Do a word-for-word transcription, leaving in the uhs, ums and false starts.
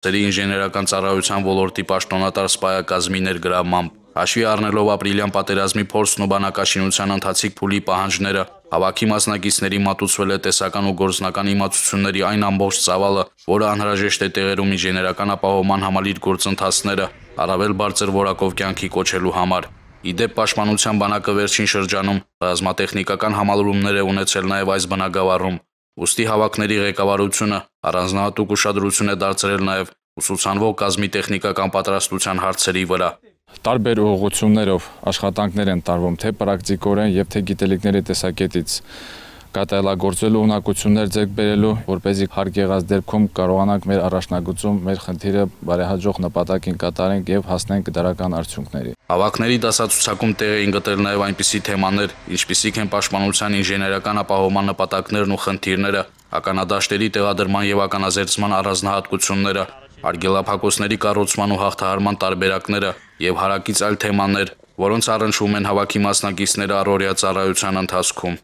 Ծերի ինժեներական ծառայության ոլորտի պաշտոնատար սպայակազմի ներգրավմամբ։ Հաշվի առնելով ապրիլյան պատերազմի փորձն ու բանակաշինության ընթացիկ փուլի պահանջները, հավաքի մասնակիցների մատուցվել է տեսական ու գործնական իմացությունների այն ամբողջ ծավալը, որը անհրաժեշտ է տեղերում ինժեներական ապահովման համալիր գործընթացները առավել բարձր որակով կյանքի կոչելու համար։ Ի դեպ, Պաշտպանության բանակը վերջին շրջանում ռազմատեխնիկական համալրումներ է ունեցել նաև այս բնագավառում։ Ուստի հավաքների ղեկավարությունը առանձնահատուկ ուշադրություն է դարձրել նաև ուսուցանվող կազմի տեխնիկական պատրաստության հարցերի վրա։ Տարբեր ուղղություններով աշխատանքներ են տարվում թե պրակտիկորեն եւ թե գիտելիքների տեսակետից կատարելագործելու ունակություններ ձեռք բերելու, որպեսզի հարկ եղած դեպքում կարողանանք մեր առաջնագծում մեր խնդիրը բարեհաջող նպատակին կատարենք եւ հասնենք դրական արդյունքների։ Հավաքների դասացուցակում տեղ էին գտել նաև այնպիսի թեմաներ, ինչպիսիք են պաշտպանության ինժեներական ապահովման նպատակներն ու խնդիրները, ականադաշտերի տեղադրման եւ ականազերծման առանձնահատկությունները, արգելափակոցների կառուցման ու հաղթահարման տարբերակները եւ հարակից այլ թեմաներ, որոնց առնչվում են հավաքի մասնակիցները առօրյա ծառայության ընթացքում։